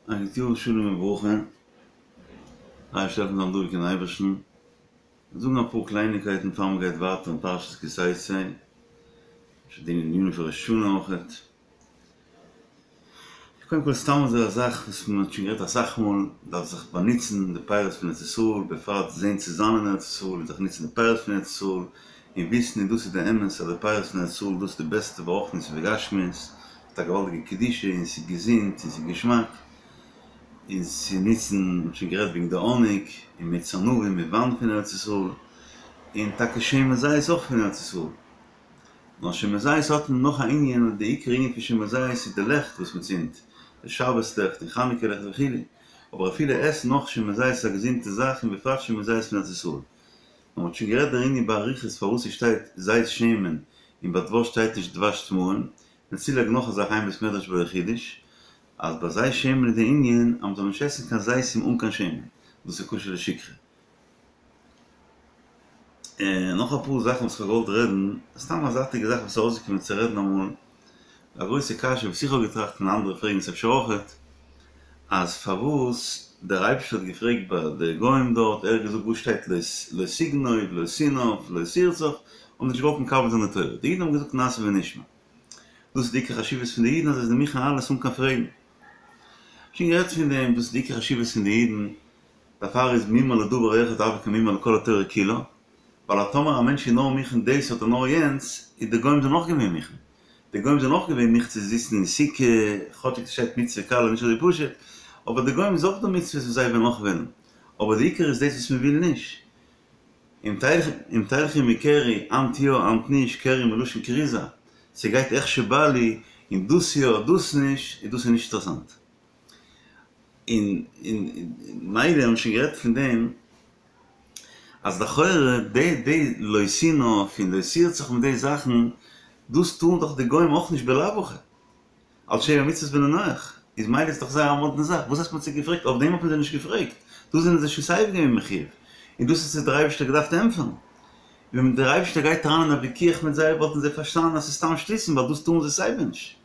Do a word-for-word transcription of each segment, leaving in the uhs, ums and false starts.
א גוט יאר שלום וברכה, אייבערשטער העלפן זיין דבוק אין אייבערשטן, זאגן אפאר קלייניקייטן פאר מען גייט ווייטער אין פרשת כי תצא, אפשר די ענינים פון ראש השנה אויכעט. קודם כל סתם אזוי א זאך וואס מען האט שוין גערעדט אסאך מאל, דארף זיך באנוצן די פירות פון ארץ ישראל, בפרט זען צו זיין אין ארץ ישראל און זיך נוצן די פירות פון ארץ ישראל, און וויסן און דאס איז די אמת אז די פירות פון ארץ ישראל דאס איז די בעסטע ברוחניות ובגשמיות, האט א געוואלדיגע קדושה און ס'איז געזונט און ס'איז געשמאק, און צו נוצן, מ'האט שוין גערעדט וועגן די האניג און מיץ ענבים מיט וויין פון ארץ ישראל, און טאקע שמן זית אויך פון ארץ ישראל. נאר שמן זית האט מען נאך א ענין און די עיקר ענין פון שמן זית איז די לעכט וואס מ'צינדט, די שבת לעכט און חנוכה לעכט וכו', אבער אפילו עסן נאך שמן זית איז א געזונטע זאך און בפרט שמן זית פון ארץ ישראל. נאר מ'האט שוין גערעדט דערין באריכות פארוואס ס'שטייט זית שמן און ביי דבש שטייט נישט דבש תמרים, און צולייגן נאך א זאך אין בית מדרש בו חידוש, אז ביי זית שמן איז די ענין אז מ'זאל נישט עסן קיין זיתים אן קיין שמן, דאס איז כשר לשכרה. און נאך אפאר זאכן וואס כ'האב געוואלט רעדן, סתם א זייטיגע זאך וואס איז ארויסגעקומען צו רעדן אמאל, א גרויסע קשיא וואס איך האב געטראכט און אנדערע פרעגן עס אפשר אויכעט, אז פארוואס דער אייבערשטער האט געפרעגט ביי די גוים דארט, ער האט געזאגט וואס שטייט לא תגנוב, לא תנאף, לא תרצח, האבן נישט געוואלט מקבל זיין די תורה, די אידן האבן געזאגט נעשה ונשמע. דאס איז די עיקר חשיבות פון די אידן אז זיי זענען מוכן אלעס אן קיין פרעגן. שוין גערעדט פון דעם, דאס איז די עיקר חשיבות פון די אידן, דערפאר איז מומר לדבר אחד הוי כמומר לכל התורה כולה, ווייל אז טאמער א מענטש איז נאר מוכן דאס אדער נאר יענץ, איז די גוים זענען אויך געווען מוכן. די גוים זענען אויך געווען מוכן צו זיצן אין סוכה, כאטשיג ס'שטייט מצוה קלה נישט אזוי פשוט, אבער די גוים איז אויך דא מצוות וואס זיי וועלן אויך וועלן, אבער די עיקר איז דאס וואס מ'וויל נישט. אם תלכו מקרי, היינט יא היינט נישט, קרי מלשון כריזה, ס'גייט איך שבא לי, און דאס יא דאס נישט, און דאס איז נישט אינטערעסאנט. און און מילא האבן שוין גערעדט פון דעם אז לכאורה די די לא תנאף און לא תרצח מיט די זאכן, דאס טוען דאך די גוים אויך נישט בלאו הכי. אלס שבע מצוות בני נח, איז מילא איז דאך זייער א מאדנע זאך, וואס הייסט מ'האט זיי געפרעגט? אויף דעם האט מען זיי נישט געפרעגט, דא זענען זיי שוין סייווי געווען מחיוב, און דאס האט זיי דער אייבערשטער געדארפט ענטפערן. ווען דער אייבערשטער גייט אריין אין א וויכוח מיט זיי וואלטן זיי פארשטאנען אז ס'איז סתם שטותים ווייל דאס טארן זיי סייווי נישט.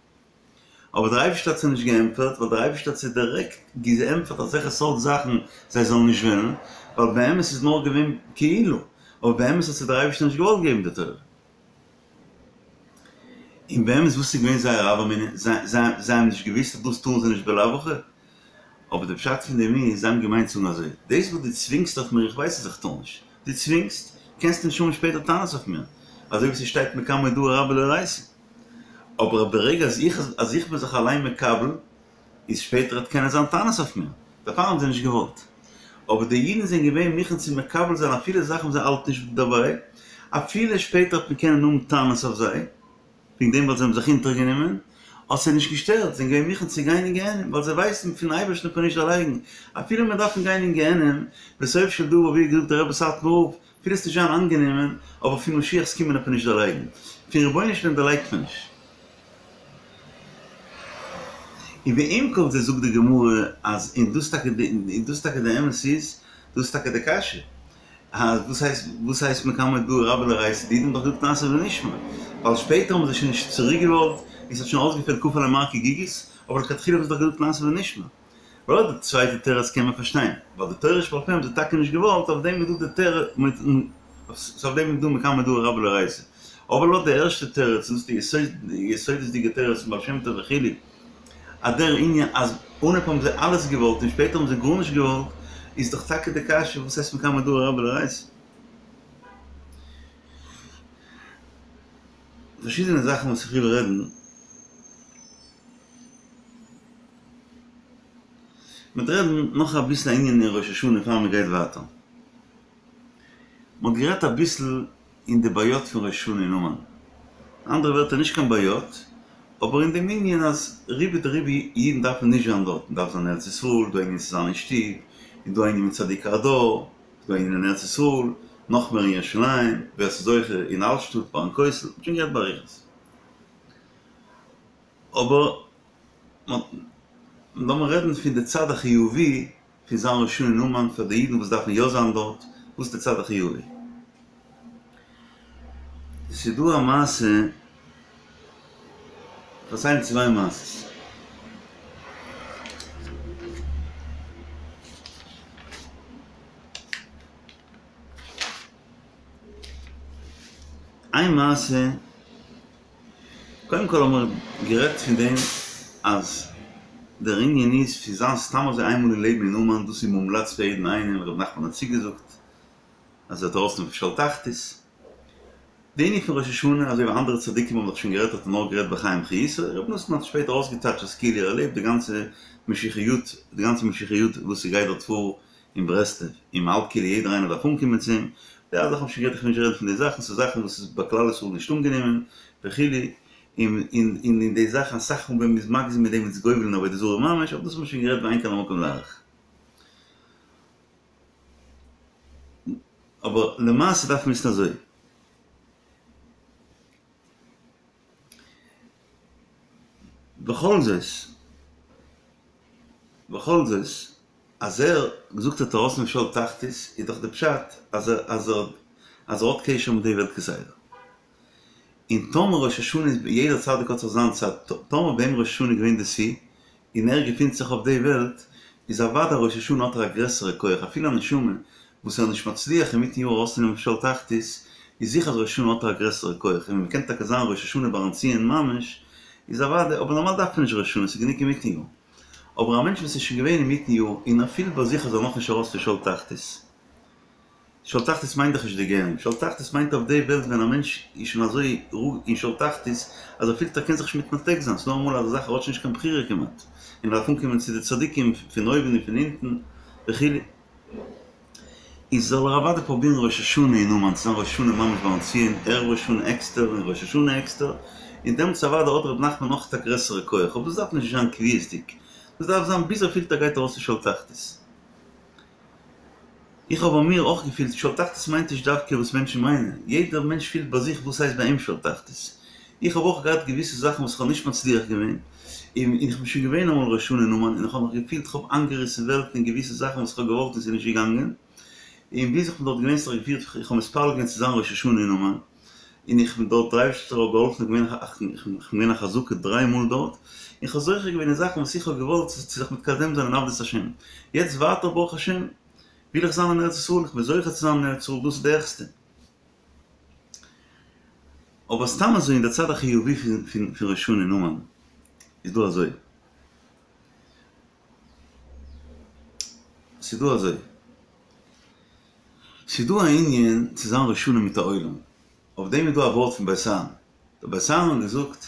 אבער דער אייבערשטער האט זיי נישט געענטפערט ווייל דער אייבערשטער האט זיי דירעקט געענטפערט אזעלכע סארט זאכן זיי זאלן נישט וועלן, ווייל באמת איז נאר געווען כאילו, אבער באמת האט זיי דער אייבערשטער נישט געוואלט געבן די תורה. און באמת וואס איז געווען זייער הוה אמינא? זיי האבן נישט געוואוסט אז דאס טארן זיי נישט בלאו הכי? אבער די פשט פון דעם איז, זיי האבן געמיינט צו זאגן אזוי, דאס וואס דו צווינגסט אויף מיר, איך ווייס אז איך טאר נישט, דו צווינגסט, קענסטו נישט האבן שפעטער טענות אויף מיר, אזוי ווי ס'שטייט מקום הודאה רבה לאורייתא. אבער ברגע אז איך אז איך בין זיך אליין מקבל, איז שפעטער וועט קענען זיין טענות אויף מיר, דערפאר האבן זיי נישט געוואלט. אבער די אידן זענען געווען מוכן צו מקבל זיין אפילו זאכן וואס זיי האלטן נישט דערביי, אפילו שפעטער וועט מען קענען האבן טענות אויף זיי, וועגן דעם ווייל זיי האבן זיך אונטערגענומען, האט זיי נישט געשטערט, זיי זענען געווען מוכן צו גיין אין גיהנום, ווייל זיי ווייסן פון אייבערשטן וועט מען נישט דערלייגן, אפילו מיר דארפן גיין אין גיהנום, בסוף של דבר ווי האט געזאגט דער רבי סאטמאר רב, אפילו ס'וועט נישט זיין אנגענומען, אבער פון משיח'ס קומען וועט מען נישט דערלייגן, פון רבונו של עולם דערלייגט מען נישט. און ועם כל זה זאגט די גמרא אז און דאס טאקע די און דאס טאקע די אמת איז, דאס איז טאקע די קשיא, אז וואס הייסט וואס הייסט מקום הודאה רבה לאורייתא, די אידן האבן דאך געזאגט נעשה ונשמע, ווייל שפעטער האבן זיי שוין נישט צוריק געוואלט, און ס'האט שוין אויסגעפעלט כפה עליהם הר כגיגית, אבער לכתחילה האבן זיי דאך געזאגט נעשה ונשמע. ווייל די צווייטע תירוץ קען מען פארשטיין, ווייל די תורה שבעל פה האבן זיי טאקע נישט געוואלט, אויף דעם איז דא די תירוץ, אויף דעם איז דא מקום הודאה רבה לאורייתא. אבער לויט די ערשטע תירוץ, און דאס איז די יסודות'דיגע תירוץ פון בעל שם טוב וכו', אז דער ענין אז אנהייב האבן זיי אלעס געוואלט און שפעטער האבן זיי גארנישט געוואלט, איז דאך טאקע די קשיא וואס הייסט מקום הודאה רבה לאורייתא. פארשידענע זאכן וואס איך וויל רעדן. מ'וועט רעדן נאך אביסל א ענין אין ראש השנה פאר מ'גייט ווייטער. מ'האט גערעדט אביסל אין די בעיות פון ראש השנה אין אומאן. אנדערע ווערטער נישט קיין בעיות, אבער אין דעם ענין אז רובא דרובא אידן דארפן נישט זיין דארט, מ'דארף זיין אין ארץ ישראל, דא א ענין צו זיין אין שטוב, און דא א ענין מיט צדיקי הדור, דא א ענין אין ארץ ישראל, נאך מער אין ירושלים, ווער ס'איז זוכה אין אלטשטאט ביים כותל, מ'האט שוין גערעדט באריכות. אבער לאמיר רעדן פון די צד החיובי פון זיין ראש השנה אין אומאן פאר די אידן וואס דארפן יא זיין דארט, וואס איז די צד החיובי? ס'איז דא א מעשה, פארציילן צוויי מעשות. איין מעשה, קודם כל האבן מיר גערעדט פון דעם אז דער ענין איז פון זיין סתם אזוי איינמאל אין לעבן אין אומאן, דאס איז מומלץ פאר יעדן איינעם, ר' נחמן האט צוגעזאגט אז ער וועט ארויסנעמען פון שאול תחתית. די ענין פון ראש השנה, אזוי ווי אנדערע צדיקים האבן דאך שוין גערעדט האט ער נאר גערעדט בחיים חיותו, ר' נתן האט שפעטער אויסגעטייטשט אז כאילו ער לעבט די גאנצע משיחיות, די גאנצע משיחיות וואס ס'גייט דארט פאר אין ברסלב, און מ'האלט כאילו יעדער איינער דארף אנקומען צו אים, די אלע זאכן האב איך שוין גערעדט, איך וויל נישט רעדן פון די זאכן, ס'איז זאכן וואס איז ביי כלל ישראל נישט אנגענומען וכו', און און אין די זאכן אסאך מאל ווען מ'איז מגזים מיט דעם איז גובל אין עבודה זרה ממש, אבער דאס האט מען שוין גערעדט ואין כאן המקום להאריך. אבער למעשה דארף מען וויסן אזוי. בכל זאת, בכל זאת, אז ער זאגט ער וועט ארויסנעמען שאול תחתית, איז דאך די פשט אז ער אז ער אז ער האט קשר מיט די וועלט כסדר. און טאמער ראש השנה איז יעדער צדיק האט זיך זיין צייט, טאמער ביי אים ראש השנה איז געווען די שיא, און ער געפינט זיך אויף די וועלט, איז אוודאי ראש השנה האט ער א גרעסערע כח, אפילו א נשמה וואס ער איז נישט מצליח אינמיטן יאר ארויסצונעמען פון שאול תחתית, איז זיכער אז ראש השנה האט ער א גרעסערע כח, און ווען מ'קען טאקע זיין ראש השנה ביים ציון ממש, איז אוודאי, אבער נארמאל דארף מען נישט ראש השנה, ס'איז גענוג אינמיטן יאר. אבער א מענטש וואס איז שוין געווען אינמיטן יאר, און ער פילט ביי זיך אז ער איז נאכנישט ארויס פון שאול תחתית, שאול תחתית מיינט דאך נישט די גיהנום, שאול תחתית מיינט אויף די וועלט ווען א מענטש איז שוין אזוי אין שאול תחתית אז ער פילט ער קען זיך נישט מתנתק זיין, ס'דא אמאל אזא זאך ער האט שוין נישט קיין בחירה כמעט, און ער דארף אנקומען צו די צדיקים פון אויבן און פון אונטן וכו', איז זאל ער אוודאי פרובירן ראש השנה אין אומאן צו זיין ראש השנה ממש ביים ציון, ערב ראש השנה עקסטער און ראש השנה עקסטער, און דעמאלטס אוודאי האט ר' נחמן נאך א גרעסערע כח, אבער דאס דארף נישט זיין קביעות'דיג, דאס דארף זיין ביז ער פילט ער גייט ארויס פון שאול תחתית. איך האב ביי מיר אויך געפילט שאול תחתית מיינט נישט דווקא וואס מענטשן מיינען, יעדער מענטש פילט ביי זיך וואס הייסט ביי אים שאול תחתית. איך האב אויך געהאט געוויסע זאכן וואס איך האב נישט מצליח געווען, און איך בין שוין געווען אמאל ראש השנה אין אומאן און איך האב מיך געפילט איך האב איינגעריסן וועלטן אין געוויסע זאכן וואס איך האב געוואלט און ס'איז נישט געגאנגען, און ביז איך בין דארט געווען ס'האט זיך געפירט איך האב מתפלל געווען צו זיין ראש השנה אין אומאן, און איך בין דארט דער אייבערשטער האט געהאלפן איך בין געווען א חזקה דריי מאל דארט, און כ'האב זוכה געווען אין זאכן וואס איך האב געוואלט צו זיך מתקדם זיין אין עבודת השם, יעצט ווייטער ברוך השם וויל איך זיין אין ארץ ישראל, איך בין זוכה צו זיין אין ארץ ישראל, דאס איז די העכסטע. אבער סתם אזוי אין די צד החיובי פון ראש השנה אין אומאן איז דא אזוי. ס'איז דא אזוי. ס'איז דא א ענין צו זיין ראש השנה מיט א עולם. אויף דעם איז דא א ווארט פון בית אהרן. דער בית אהרן האט געזאגט,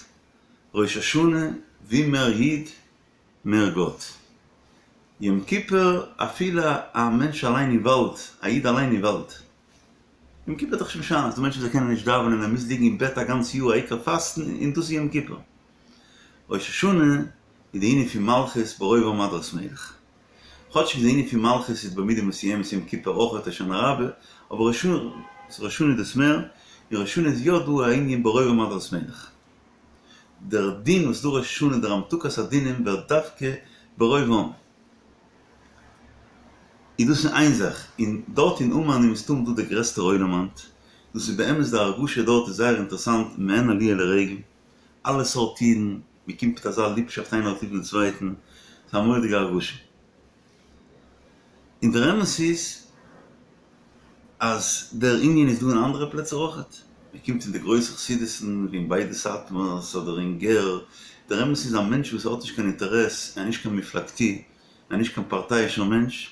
ראש השנה ווי מער איד מער גאט. יום כיפור אפילו א מענטש אליין אין וואלד, א איד אליין אין וואלד. יום כיפור איז דאך נישט משנה, ס'דא מענטשן וואס זיי קענען נישט דאווענען, ער מוז ליגן אין בעט א גאנץ יאר העיקר פאסטן און דאס איז יום כיפור. ראש השנה איז די ענין פון מלכות ברוב עם הדרת מלך. כאטשיג די ענין פון מלכות איז במידה מסוימת יום כיפור אויכעט הושענא רבה, אבער ראש השנה איז דאס מער, און ראש השנה איז יא דא א ענין ברוב עם הדרת מלך. דער דין וואס דא ראש השנה דער המתקת הדינים ווערט דווקא ברוב עם. איז דאס איז איין זאך, און דארט אין אומאן איז מסתם דא דער גרעסטער עולם היינט, דאס איז באמת די הרגשה דארט איז זייער אינטערעסאנט מעין עליה לרגל, אלע סארט אידן, מען קומט מיט אזא ליבשאפט איינער האט ליב דעם צווייטן, ס'איז א מורא'דיגע הרגשה. און דער אמת איז אז דער ענין איז דא אין אנדערע פלעצער אויכעט, מען קומט אין די גרויסע חסידות'ן ווי אין ביידע סאטמארס אדער אין גער, דער אמת איז א מענטש וואס האט נישט קיין אינטערעס, ער איז נישט קיין מפלגתי, ער איז נישט קיין פארטייאישער מענטש,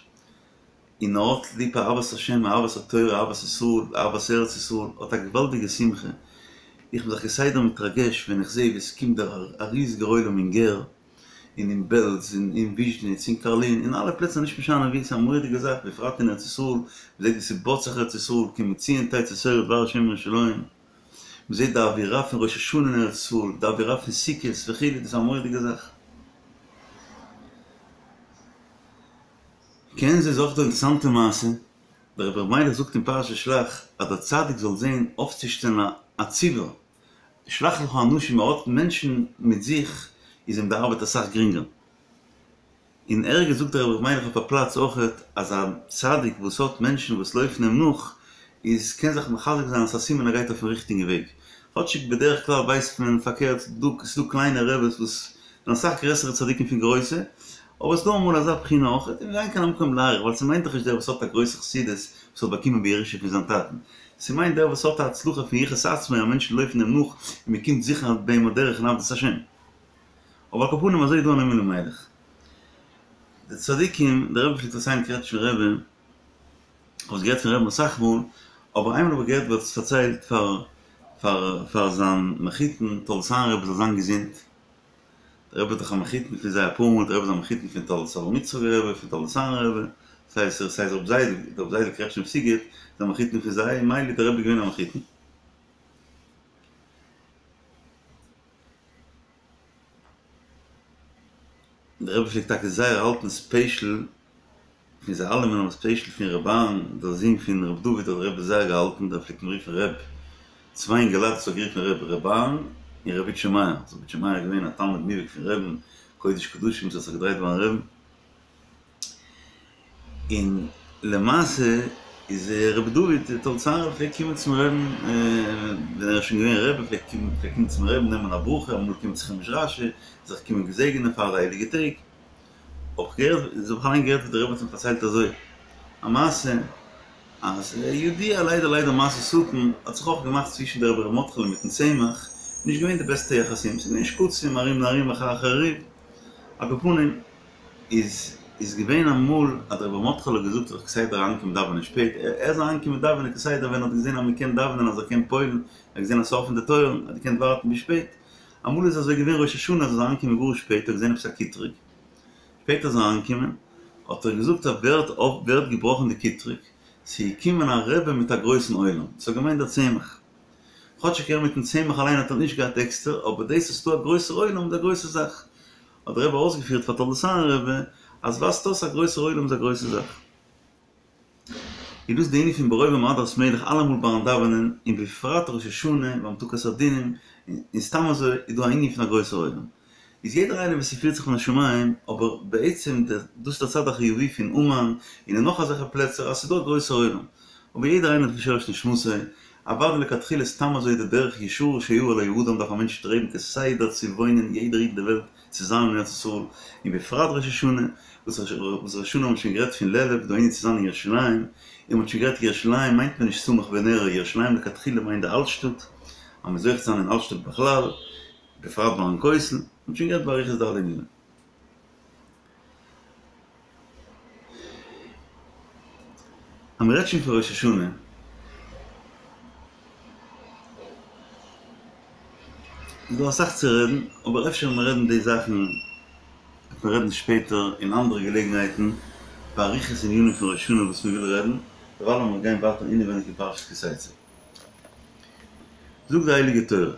און ער האט ליב אהבת השם, אהבת התורה, אהבת ישראל, אהבת ארץ ישראל, האט א געוואלדיגע שמחה, איך בין זיך כסדר מתרגש ווען איך זעה ווי עס קומט דער א ריזיגער עולם אין גער, און אין בעלז, און אין וויזשניץ, אין קארלין, אין אלע פלעצער נישט משנה ווי, ס'איז א מורא'דיגע זאך, בפרט אין ארץ ישראל, מ'זעט ווי ס'בויט זיך ארץ ישראל, כי מציון תצא תורה ודבר השם מירושלים, מ'זעט די אווירה פון ראש השנה אין ארץ ישראל, די אווירה פון סוכות וכו', דאס איז א מורא'דיגע זאך. כעין זה איז אויך דא אינטערעסאנטע מעשה, דער רבי ר' מיילעך זאגט אין פרשת שלח אז דער צדיק זאל זען אויפצושטעלן א ציבור, שלח לך אנשים, ער האט מענטשן מיט זיך איז אים די ארבעט אסאך גרינגער. און ערגעץ זאגט דער רבי ר' מיילעך אויף א פלאץ אויכעט אז א צדיק וואס האט מענטשן וואס לויפן אים נאך איז קען זיך מחזק זיין אז ס'איז א סימן ער גייט אויפן ריכטיגן וועג, כאטשיג בדרך כלל ווייסט מען פארקערט, ס'דא קליינע רעבעס וואס זענען אסאך גרעסערע צדיקים פון גרויסע, אבער ס'דא אמאל אזא בחינה אויכעט, און ואין כאן המקום להאריך, ווייל ס'מיינט דאך נישט דער וואס האט א גרויסע חסידות וואס האט באקומען בירושה פון זיין טאטן, ס'מיינט דער וואס האט א הצלחה פון יחוס עצמו, אז מענטשן לויפן אים נאך און מ'קומט זיכער ביי אים בדרך אין עבודת השם. אבער על כל פנים אזוי איז דא א נועם אלימלך. די צדיקים, דער רבי פלעגט פארציילן קרעטשניפער רבי, כ'האב עס געהערט פון רבי'ן אסאך מאל, אבער איינמאל האב איך געהערט ווי ער האט עס פארציילט פאר פאר פאר זיין מחותן תולדות אהרן רבי זאל זיין געזונט, דער רבי איז דאך א מחותן פון זיי אפאר מאל, דער רבי איז א מחותן פון תולדות אברהם יצחק רבי, פון תולדות אהרן רבי, ס'הייסט ס'הייסט רבי זיידל, רבי זיידל קרעטשניף סיגוט איז א מחותן פון זיי, מילא איז דער רבי געווען א מחותן. דער רבי פלעגט טאקע זייער האלטן ספעשל פון זיי אלעמען אבער ספעשל פון ר' אהרן דער זון פון ר' דוד האט דער רבי זייער געהאלטן דער פלעגט אים רופן ר' צוויי אינגעלייט וואס האט גערופן ר' ר' אהרן און ר' איטשע מאיר ר' איטשע מאיר איז געווען א תלמיד מובהק פון רבי'ן קודש קדשים וואס האט זיך געדרייט ביים רבי'ן און למעשה איז רבי דוד תולדות אהרן פלעגט קומען צום רבי'ן ווען ער איז שוין געווען רבי פלעגט קומען צום רבי'ן נעמען א ברכה אמאל קומען צו חומש רשי זיך קומען געזעגענען פאר די הייליגע טעג האב איך געהערט האב איך אליין געהערט ווי דער רבי האט אים פארציילט אזוי א מעשה אז ידוע ליידער ליידער מעשה שטן האט זיך אויך געמאכט צווישן דער רבי ר' מרדכי'לע מיטן צמח נישט געווען די בעסטע יחסים ס'איז געווען שקצים ארום און ארום מחרחרי ריב על כל פנים איז איז געווען אמאל אז דער רבי ר' מרדכי'לע האט געזאגט זיך כסדר אריינקומען דאווענען שפעט ער איז אריינגעקומען דאווענען כסדר ווען ער האט געזען אז מען קען דאווענען אז ער קען פועל'ן ער האט געזען אז ס'איז אפען די טויערן ער האט געקענט ווארטן ביז שפעט אמאל איז אזוי געווען ראש השנה אז ער איז אריינגעקומען גאר שפעט ער האט געזען עפעס א קיטרוג שפעט איז ער אריינגעקומען האט ער געזאגט אז ווער האט ווער האט געבראכן די קיטרוג ס'איז געקומען א רבי מיט א גרויסן עולם ס'האט געמיינט דער צמח כאטשיג ער מיטן צמח אליין האט ער נישט געהאט עקסטער אבער דאס אז ס'דא א גרויסער עולם איז א גרויסע זאך האט דער רבי אויסגעפירט פאר תולדות אהרן רבי אז ווייזט אויס א גרויסער עולם איז א גרויסע זאך. איז דאס די ענין פון ברוב עם הדרת מלך אלעמאל ביים דאווענען און בפרט ראש השנה ביי המתקת הדינים און סתם אזוי איז דא א ענין פון א גרויסער עולם איז יעדער איינער וואס ס'פירט זיך מן השמים אבער בעצם דאס איז דער צד החיובי פון אומאן און אין נאך אזעלכע פלעצער אז ס'איז דא א גרויסער עולם אבער יעדער איינער האט שורש נשמתו אוודאי לכתחילה סתם אזוי די דרך ישרה שיאיר לו האדם דארף א מענטש שטרעבן כסדר צו וואוינען יעדער איד אין די וועלט צו זיין אין ארץ ישראל און בפרט ראש השנה וואס ראש השנה האט מען שוין גערעדט פון לעלוב דא ענין צו זיין אין ירושלים און מ'האט שוין גערעדט ירושלים מיינט מען נישט סמוך ונראה ירושלים לכתחילה מיינט די אלטשטאט אז מ'איז זוכה צו זיין אין אלטשטאט בכלל בפרט ביים כותל מ'האט שוין גערעדט באריכות די אלע ענינים. אז מ'רעדט שוין פון ראש השנה, איז דא אסאך צו רעדן, אבער אפשר ווען מיר רעדן די זאכן וועט מען רעדן שפעטער אין אנדערע געלעגנהייטן באריכות ענינים פון ראש השנה וואס מ'וויל רעדן, דערווייל לאמיר גיין ווייטער אינעווייניג אין פרשת כי תצא. זאגט די הייליגע תורה,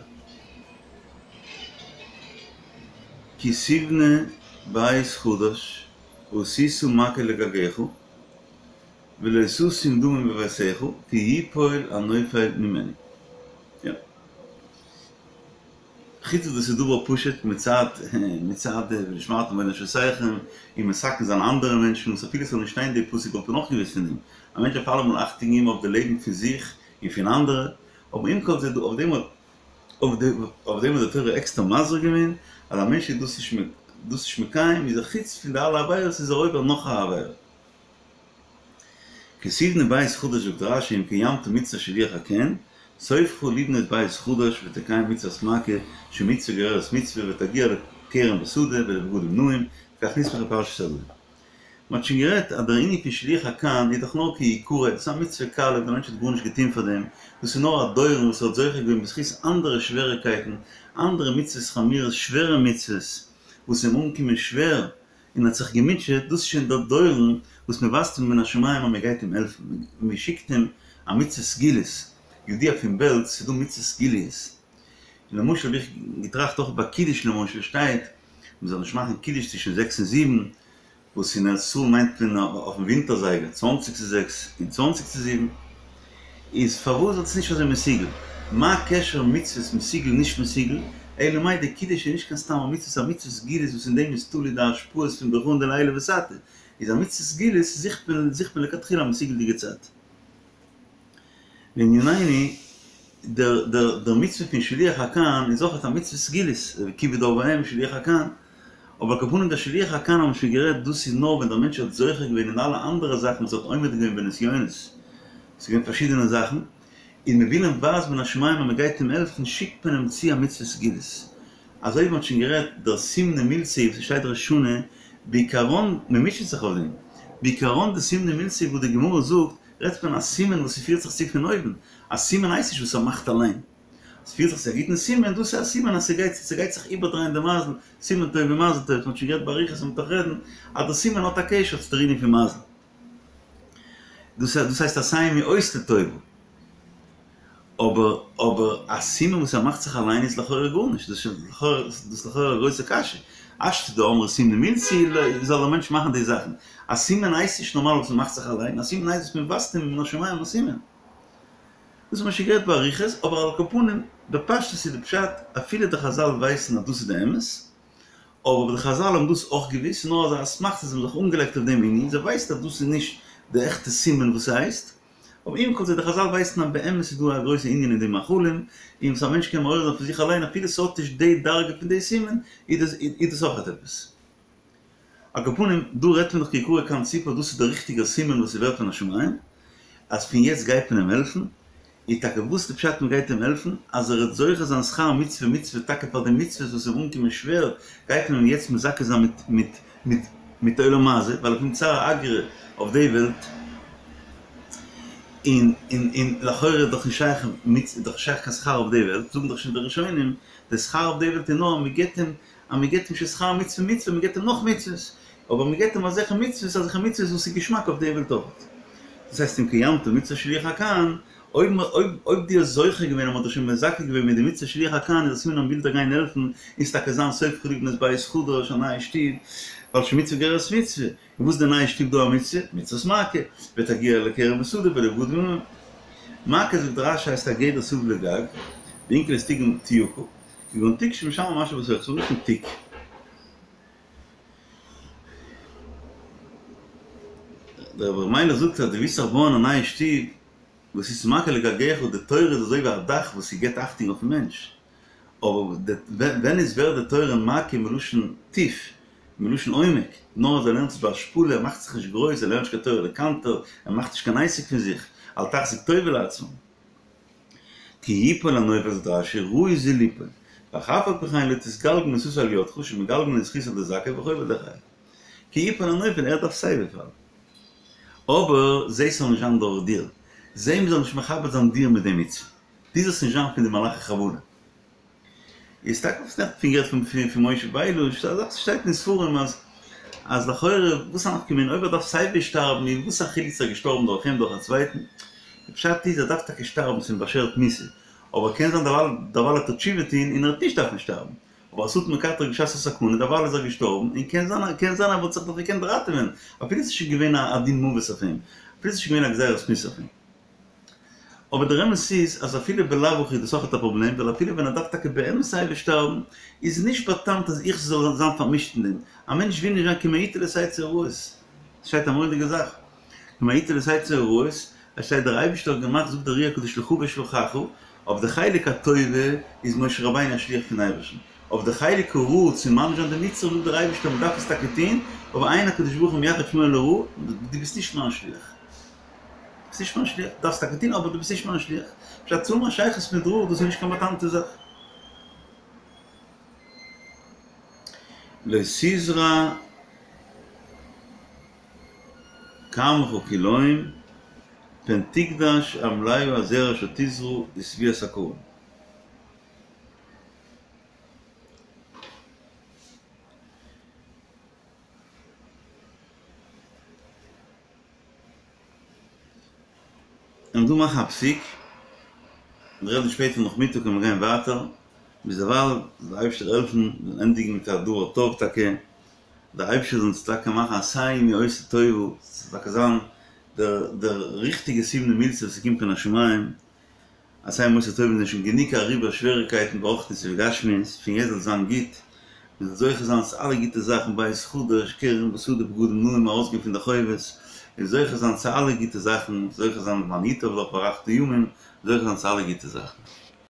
כי תבנה בית חדש ועשית מעקה לגגך ולא תשים דמים בביתך כי יפול הנופל ממנו. יא. חוץ וואס דאס איז דבר פשוט מצד מצד ונשמרתם מאד לנפשותיכם און מסכן זיין אנדערע מענטשן וואס אפילו ס'זאל נישט שטיין די פסוק וואלט מען אויך געוואוסט פון דעם. א מענטש דארף אלעמאל אכטונג געבן אויף די לעבן פון זיך און פון אנדערע, אבער עם כל זה דא אויף דעם האט אויף דעם האט די תורה עקסטער מזהיר געווען אז א מענטש איז דאס נישט דאס נישט מקיים איז ער חוץ פון די אלע עבירות איז ער עובר נאך א עבירה. כי תבנה בית חדש זאגט רש"י אם קיימת מצות שילוח הקן, סופך לבנות בית חדש ותקיים מצות מעקה שמצוה גוררת מצוה ותגיע לכרם בשדה ולבגדים נאים, וכך נסמכה פרשת הדברים. מען האט שוין גערעדט אז דער ענין פון שילוח הקן איז דאך נאר כי יכרת, דאס איז א מצוה קלה, דער מענטש האט גארנישט געטון פאר דעם, דאס איז נאר א דורון וואס ער האט זוכה געווען בזכות אנדערע שוועריקייטן, אנדערע מצוות חמורות, שווערע מצוות, וואס איז אים אנגעקומען שווער, און האט זיך געמוטשעט, דאס איז שוין דער דורון וואס מען ווייזט אים מן השמים אז מען גייט אים העלפן, מען שיקט אים א מצוה סגולית, ידוע פון בעלז ס'איז דא מצוות סגוליות, און למשל האב איך געטראכט אויך ביי קידוש למשל שטייט מען זאל נישט מאכן קידוש צווישן זעקס און זיבן, וואס אין ארץ ישראל מיינט מען אויפן ווינטער זייגער צוואנציג צו זעקס און צוואנציג צו זיבן, איז פארוואס איז עס נישט אזוי מסוגל? מה קשר מצוות מסוגל נישט מסוגל? אלא מאי די קידוש איז נישט קיין סתם א מצוה ס'איז א מצוה סגולית וואס אין דעם איז תלוי די השפעות פון ברכאן דלעילא ותתא, איז א מצוה סגולית זוכט מען זוכט מען לכתחילה א מסוגל'דיגע צייט. לענינינו, דער דער דער מצוה פון שילוח הקן איז אויך א מצוה סגולית, כיבוד אב ואם, שילוח הקן, אבער על כל פנים דער שילוח הקן האבן מיר שוין גערעדט, דאס איז נאר ווען דער מענטש האט זוכה געווען אין אלע אנדערע זאכן וואס ער האט עומד געווען בנסיונות, ס'איז געווען פארשידענע זאכן, און מען וויל אים ווייזן מן השמים אז מען גייט אים העלפן, שיקט מען אים צו א מצוה סגולית. אזוי ווי מען האט שוין גערעדט, דער סימנא מילתא וואס שטייט ראש השנה, בעיקרון, מען מוטשעט זיך אויף דעם, בעיקרון די סימנא מילתא וואס די גמרא זאגט, רעדט מען א סימן וואס ס'פירט זיך צו פון אויבן, א סימן הייסט נישט וואס ער מאכט אליין, ס'פירט זיך צו א גוטן סימן, דאס איז א סימן אז ס'גייט ס'גייט זיך איבערדרייען די מזל, סימן טוב ומזל טוב, מ'האט שוין גערעדט באריכות און מ'וועט נאך רעדן, אז דער סימן האט א קשר צו דער ענין פון מזל. דאס דאס הייסט עשהו מאות לטובה. אבער אבער א סימן וואס ער מאכט זיך אליין איז לכאורה גארנישט, דאס איז לכאורה דאס איז לכאורה א גרויסע קשיא. השתא דאמרי סימנא מילתא זאל דער מענטש מאכן די זאכן. א סימן הייסט נישט נארמאל וואס מ'מאכט זיך אליין, א סימן הייסט וואס מ'ווייזט אים מן השמים א סימן. דאס האט מען שוין גערעדט באריכות, אבער על כל פנים, בפשטות איז די פשט, אפילו די חזל ווייסן אז דאס איז די אמת, אבער די חזל האבן דאס אויך געוואוסט, נאר אזא אסמכתא זיי האבן זיך אנגעלייגט אויף דעם ענין, זיי ווייסן אז דאס איז נישט די עכטע סימן וואס ס'הייסט, אבער עם כל זה די חזל ווייסן אז באמת איז דא א גרויסע ענין אין די מאכלים, און וואס א מענטש קען מעורר זיין פון זיך אליין אפילו ס'האט נישט די דרגה פון די סימן, איז דאס אויך עפעס. על כל פנים, דא רעדט מען דאך כי קרא קן ציפור, דאס איז דער ריכטיגער סימן וואס ס'ווערט מן השמים, אז פון יעצט גייט מען אים העלפן, איז טאקע וואס די פשט מען גייט אים העלפן? אז ער וועט זוכה זיין שכר מצוה מצוה טאקע פאר די מצוות וואס איז אנגעקומען שווער, גייט מען אים יעצט מזכה זיין מיט מיט מיט מיט עולם הזה, ווייל ער קומט צער אגרא אויף די וועלט, און און און לכאורה איז דאך נישט שייך מצ איז דאך נישט שייך קיין שכר אויף די וועלט, זאגן דאך שוין די ראשונים, די שכר אויף די וועלט איז נאר אז מען געבט אים אז מען געבט אים שוין שכר מצוה מצוה, מען געבט אים נאך מצוות, אבער מען געבט אים אזעלכע מצוות, אזעלכע מצוות וואס איז געשמאק אויף די וועלט אויך. דאס הייסט אם קיימת מצוות שילוח הקן, אויב אויב דו האסט זוכה געווען אז מען האט דיך שוין מזכה געווען מיט די מצוה שילוח הקן איז א סימן אז מען וויל דיר גיין העלפן און ס'טאקע זיין סופך לבנות בית חדש א נייע שטוב, ווייל שמצוה גוררת מצוה, און וואס איז די נייע שטוב דא א מצוה? מצוות מעקה, ותגיע לכרם ושדה ולבגדים. מעקה זאגט רש"י הייסט א גדר סביב לגג, ואונקלוס תרגם תיוקא. כגון תיק שמשמר מה שבתוכו, ס'איז מלשון תיק. דער רבי ר' מיילעך זאגט אז דו ווילסט זיך בויען א נייע שטוב, ועשית מעקה לגגך, די תורה איז אזוי ווי א דאך וואס ס'געבט אכטונג אויפן מענטש, אבער ווען איז ווערט די תורה מעקה מלשון טיף, מלשון עומק, נאר אז ער לערנט עס בהשפלה, ער מאכט זיך נישט גרויס, ער לערנט נישט קיין תורה לקנטר, ער מאכט נישט קיין עסק פון זיך, אל תחזיק טובה לעצמו. כי יפול הנופל זאגט רש"י ראוי זה ליפול, ואף על פי כן לא תתגלגל מיתתו על ידך שמגלגלין זכות על ידי זכאי וחוב על ידי חייב. כי יפול הנופל ער דארף סייווי פאלן. אבער זע ס'זאל נישט זיין דורך דיר. זע מ'זאל נישט מכבד זיין דיר מיט די מצוה. דו זאלסט נישט זיין פון די מלאכי חבלה. איז טאקע וואס נעכטן פון גערעדט פון פון משה ביילוש, א זאך וואס שטייט אין ספרים אז אז לכאורה וואס א נפקא מינה אויב ער דארף סייווי שטארבן איז וואס א חילוק צו ער איז געשטארבן דורך אים דורך א צווייטן, די פשט איז ער דארף טאקע שטארבן ס'איז אים באשערט מיתה, אבער קען זיין דערווייל דערווייל וועט ער תשובה טוהן און ער וועט נישט דארפן שטארבן, אבער השטן מקטרג בשעת הסכנה דערווייל איז ער געשטארבן און קען זיין קען זיין ער וואלט זיך נאך געקענט ראטעווען אפילו ס'איז שוין געווען א דין מוות אויף אים, אפילו ס'איז שוין געווען א גזירת מיתה אויף אים. אבער דער אמת איז אז אפילו בלאו הכי איז דאס אויכעט א פראבלעם, ווייל אפילו ווען ער דארף טאקע באמת סייווי שטארבן, איז נישט באטאמט אז איך זאל זיין פארמישט אין דעם. א מענטש וויל נישט זיין כי מאתי לתצא הרעות. עס שטייט א מורא'דיגע זאך, כי מאתי לתצא הרעות, עס שטייט דער אייבערשטער האט געמאכט זאגט דער אר"י הקדוש לך ואשלחך, אויף די חלק הטובה איז משה רבינו א שליח פון אייבערשטן, אויף די חלק הרע צו מעניש זיין די מצרים זאגט דער אייבערשטער מען דארף עס טאקע טון, אבער אין הקדוש ברוך הוא מייחד שמו לרעה, דו ביסט נישט מיין שליח. ביסט נישט מיין שליח, דארפסט טאקע טון אבער דו ביסט נישט מיין שליח. פשט צו האבן א שייכות מיט רע דאס איז נישט קיין באטאמטע זאך. לא תזרע כרמך כלאים פן תגדש המלאה הזרע אשר תזרע ותבואת הכרם. און דא מאכן א פסיק, און רעדן שפעטער נאכמיטאג קען מען גיין ווייטער, ביזדערווייל זאל דער אייבערשטער העלפן מיר זאלן ענדיגן מיט א דבר טוב טאקע, דער אייבערשטער זאל אונז טאקע מאכן עשהו מאות לטובה, ס'זאל טאקע זיין דער דער ריכטיגע סימנא מילתא וואס ס'קומט מן השמים, עשהו מאות לטובה זענען שוין גענוג אריבער שוועריקייטן ברוחניות ובגשמיות, פון יעצט זאל זיין גוט, מען זאל זוכה זיין צו אלע גוטע זאכן בית חדש, כרם ושדה בגדים נאים ארויסגיין פון די חובות, און זוכה זיין צו אלע גוטע זאכן, זוכה זיין למען ייטב לך והארכת ימים, זוכה זיין צו אלע גוטע זאכן.